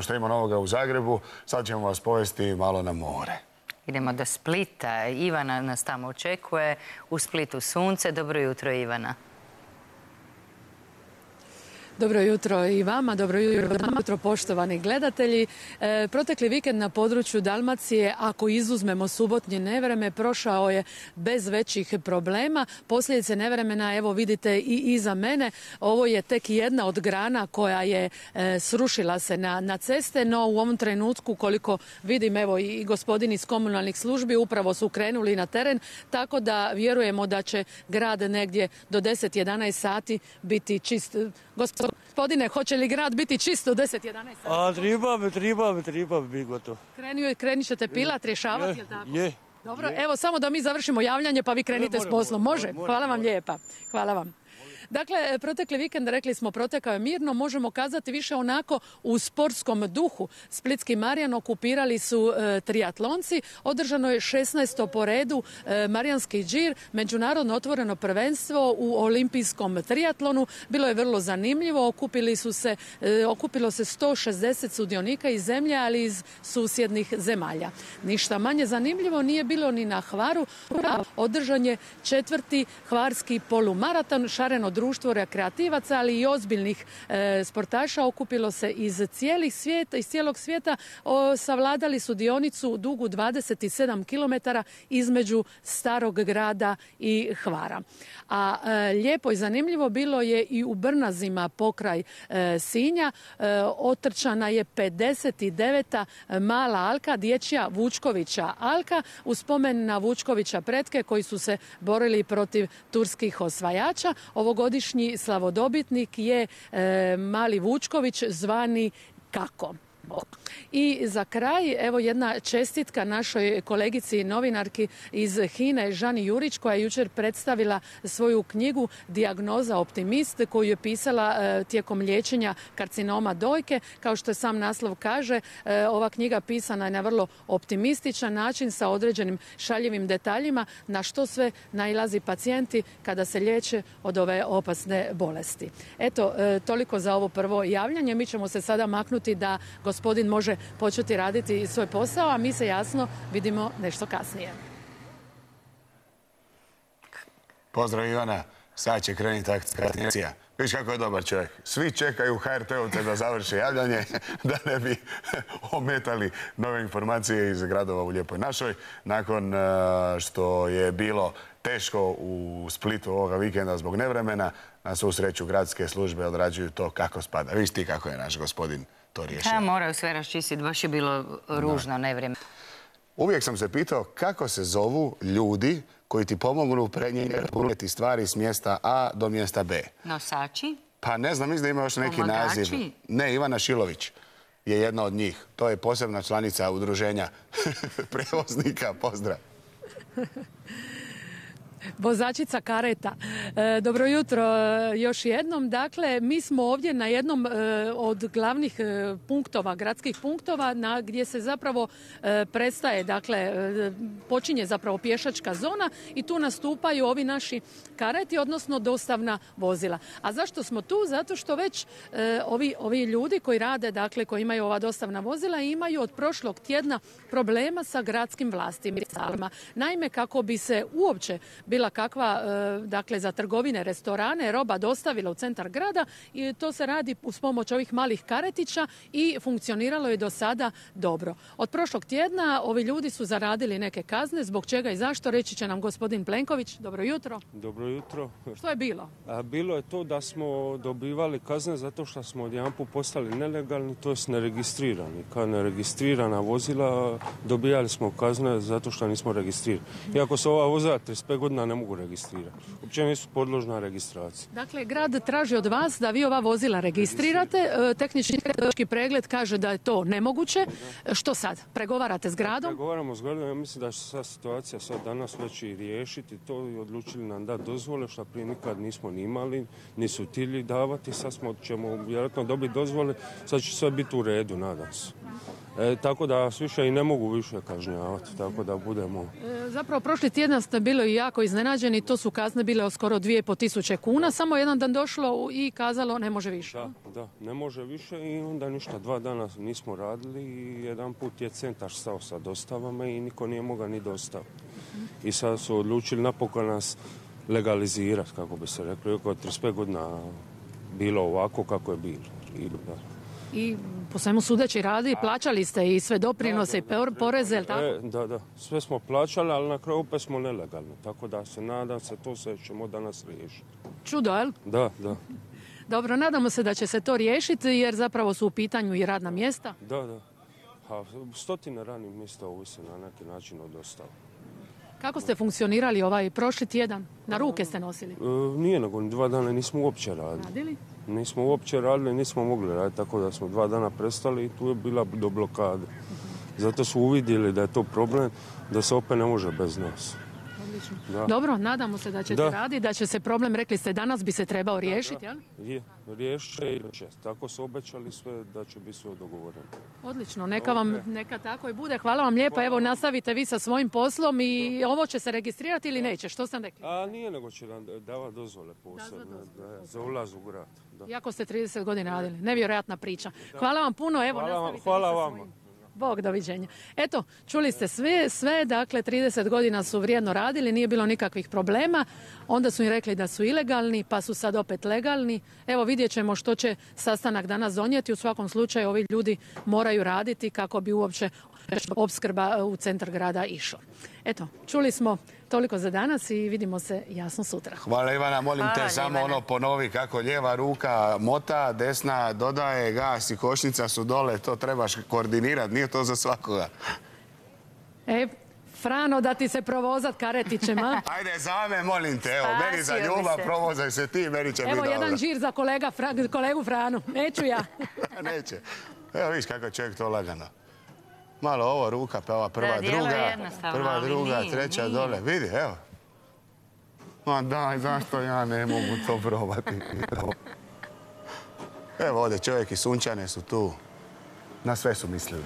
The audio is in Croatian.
što ima novoga u Zagrebu. Sad ćemo vas povesti malo na more. Idemo do Splita. Ivana nas tamo očekuje. U Splitu sunce. Dobro jutro, Ivana. Dobro jutro i vama, dobro jutro poštovani gledatelji. Protekli vikend na području Dalmacije, ako izuzmemo subotnje nevreme, prošao je bez većih problema. Posljedice nevremena, evo vidite i iza mene, ovo je tek jedna od grana koja je srušila se na ceste, no u ovom trenutku, koliko vidim, evo i gospodini iz komunalnih službi upravo su krenuli na teren, tako da vjerujemo da će grad negdje do 10-11 sati biti čist. Gospodine, hoće li grad biti čisto u 10-11 sati? Treba bi biti gotovo. Krenit ćete pilat, rješavati, jel tako? Je. Dobro, evo samo da mi završimo javljanje pa vi krenite s poslom. Može? Hvala vam lijepa. Hvala vam. Dakle, protekli vikend, rekli smo, protekao je mirno, možemo kazati više onako u sportskom duhu. Splitski Marijan okupirali su triatlonci, održano je 16. po redu Marijanski džir, međunarodno otvoreno prvenstvo u olimpijskom triatlonu. Bilo je vrlo zanimljivo, okupilo se 160 sudionika iz zemlje, ali iz susjednih zemalja. Ništa manje zanimljivo nije bilo ni na Hvaru, održan je 4. hvarski polumaraton, šareno društvo rekreativaca, ali i ozbiljnih sportaša okupilo se iz cijelog svijeta. Savladali su dionicu dugu 27 km između Starog grada i Hvara. A lijepo i zanimljivo bilo je i u Brnazima pokraj Sinja. Otrčana je 59. mala alka, dječja Vučkovića alka, u spomen na Vučkovića pretke koji su se borili protiv turskih osvajača. Ovogodišnji slavodobitnik je mali Vučković zvani Kako. I za kraj, evo jedna čestitka našoj kolegici novinarki iz HINA-e Žani Jurić, koja je jučer predstavila svoju knjigu Dijagnoza optimist, koju je pisala tijekom liječenja karcinoma dojke. Kao što je sam naslov kaže, ova knjiga pisana je na vrlo optimističan način sa određenim šaljivim detaljima na što sve nailazi pacijenti kada se liječe od ove opasne bolesti. Eto, toliko za ovo prvo javljanje. Mi ćemo se sada maknuti da gospodin može početi raditi svoj posao, a mi se jasno vidimo nešto kasnije. Pozdrav Ivana, sad će krenuti akcija. Viš kako je dobar čovjek. Svi čekaju HRT-ovce da završe javljanje, da ne bi ometali nove informacije iz gradova u Lijepoj našoj. Nakon što je bilo teško u Splitu ovoga vikenda zbog nevremena, na svu sreću gradske službe odrađuju to kako spada. Viš ti kako je naš gospodin to riješio. Ja moraju sve raščistiti, baš je bilo ružno nevrijeme. Uvijek sam se pitao kako se zovu ljudi koji ti pomognu prenijeti stvari s mjesta A do mjesta B. Nosači? Pa ne znam, mislim da ima još neki naziv. Ne, Ivana Šilović je jedna od njih. To je posebna članica udruženja prevoznika. Pozdrav. Vozačica kareta. Dobro jutro još jednom. Dakle, mi smo ovdje na jednom od glavnih punktova, gradskih punktova, gdje se zapravo prestaje, dakle, počinje zapravo pješačka zona i tu nastupaju ovi naši kareti, odnosno dostavna vozila. A zašto smo tu? Zato što već ovi ljudi koji rade, dakle, koji imaju ova dostavna vozila, imaju od prošlog tjedna problema sa gradskim vlastima. Naime, kako bi se uopće bila kakva, dakle, za trgovine, restorane, roba dostavila u centar grada, i to se radi uz pomoć ovih malih karetića i funkcioniralo je do sada dobro. Od prošlog tjedna ovi ljudi su zaradili neke kazne, zbog čega i zašto, reći će nam gospodin Plenković. Dobro jutro. Dobro jutro. Što je bilo? Bilo je to da smo dobivali kazne zato što smo odjedanput postali nelegalni, to jest neregistrirani. Kao neregistrirana vozila dobijali smo kazne zato što nismo registrirani. Iako se ova vozila 35 godina ne mogu registrirati. Uopće nisu podložna registraciji. Dakle, grad traži od vas da vi ova vozila registrirate. Tehnički pregled kaže da je to nemoguće. Što sad? Pregovarate s gradom? Pregovaramo s gradom. Ja mislim da će se situacija sad danas već i riješiti to i odlučili nam dati dozvole, što prije nikad nismo ni imali, nisu htjeli davati. Sad ćemo vjerojatno dobiti dozvole. Sad će sve biti u redu, nadam se. Tako da vas više i ne mogu više kažnjavati, tako da budemo... Zapravo, prošli tjedan ste bili jako iznenađeni, to su kazne bile od skoro 2.500 kuna, samo jedan dan došlo i kazalo ne može više. Da, ne može više i onda ništa, 2 dana nismo radili i jedan put je centar stao sa dostavama i niko nije mogao ni dostaviti. I sad su odlučili napokon nas legalizirati, kako bi se reklo, oko 35 godina bilo ovako kako je bilo. I po svemu sudeći radi, plaćali ste i sve doprinose i poreze, je li tako? Da. Sve smo plaćali, ali na kraju opet smo nelegalni. Tako da se nadam se, to se ćemo danas riješiti. Čudo, jel? Da. Dobro, nadamo se da će se to riješiti jer zapravo su u pitanju i radna mjesta. Da. Stotine radnih mjesta ovise na neki način od dostavu. Kako ste funkcionirali ovaj prošli tjedan? Na ruke ste nosili? Nije, nego 2 dana nismo uopće radili. Nismo uopće radili, nismo mogli raditi, tako da smo 2 dana prestali i tu je bila do blokade. Zato su uvidjeli da je to problem, da se opet ne može bez nas. Da. Dobro, nadamo se da ćete raditi, da će se problem, rekli ste, danas bi se trebao riješiti, jel? Je, riješit će i će. Tako su obećali sve da će biti sve dogovoreno. Odlično, neka tako i bude. Hvala vam lijepa, evo nastavite vi sa svojim poslom i ovo će se registrirati ili neće, što sam rekli? Nije, nego će nam davati dozvole posebne za ulaz u grad. Iako ste 30 godina radili, nevjerojatna priča. Hvala vam puno, evo nastavite hvala vi sa vama. svojim. Bog, doviđenja. Eto, čuli ste sve, dakle 30 godina su vrijedno radili, nije bilo nikakvih problema, onda su im rekli da su ilegalni, pa su sad opet legalni. Evo vidjet ćemo što će sastanak danas donijeti, u svakom slučaju ovi ljudi moraju raditi kako bi uopće opskrba u centar grada išao. Eto, čuli smo toliko za danas i vidimo se jasno sutra. Hvala Ivana, molim te samo ponovi kako lijeva ruka mota, desna dodaje, gas i kočnica su dole, to trebaš koordinirati, nije to za svakoga. Frano, da ti se provozat karetićem, a? Ajde, za me, molim te, evo, meni za ljubav, provozaj se ti, meni će biti dobro. Evo jedan žir za kolegu Franu, neću ja. Neće. Evo, viš kako čovjek to lagano. Malo ovo ruka, pa ova prva, druga, treća dole. Vidi, evo. Ma daj, zašto ja ne mogu to probati? Evo ovdje čovjek i Sunčane su tu. Na sve su mislili.